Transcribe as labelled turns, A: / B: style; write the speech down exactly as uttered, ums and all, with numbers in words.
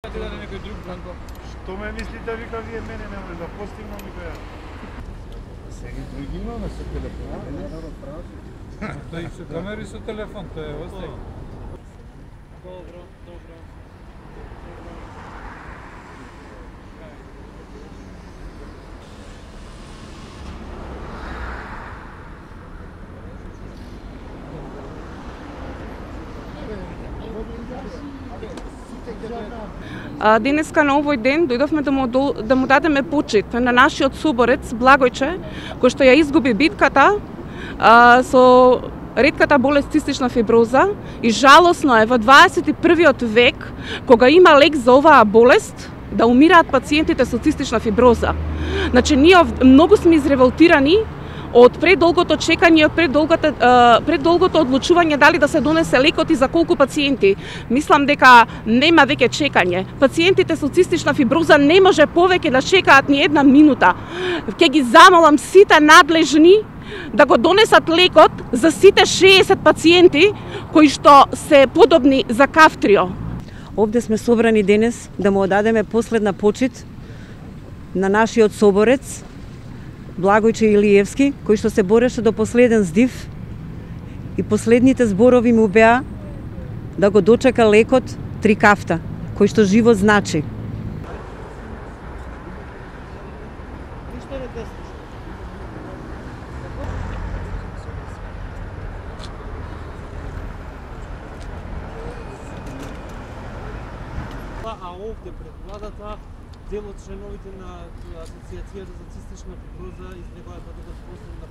A: Да на некој друг Бранко.
B: Што ме мислите, вика, вие мене не може да постигнам, вика ја. Сега други имаме со телефон.
A: Да и со камери со телефон, тоа е остај.
C: Добро, добро.
D: А, денеска на овој ден дојдовме да му, да му дадеме почит на нашиот соборец Благојче, кој што ја изгуби битката а, со ретката болест цистична фиброза, и жалосно е во дваесет и првиот век, кога има лек за оваа болест, да умираат пациентите со цистична фиброза. Значи, ние многу сме изреволтирани од предолгото чекање, од предолгото, предолгото одлучување дали да се донесе лекот и за колку пациенти. Мислам дека нема веќе чекање. Пациентите со цистична фиброза не може повеќе да чекаат ни една минута. Ќе ги замолам сите надлежни да го донесат лекот за сите шеесет пациенти кои што се подобни за Кавтрио.
E: Овде сме собрани денес да му одадеме последна почит на нашиот соборец Благојче Илиевски, кој што се бореше до последен здив, и последните зборови му беа да го дочека лекот Трикафта, кој што живот значи.
C: А овде пред владата, дел од членовите на Асоциацијата за цистична фиброза излегаат да дадат последна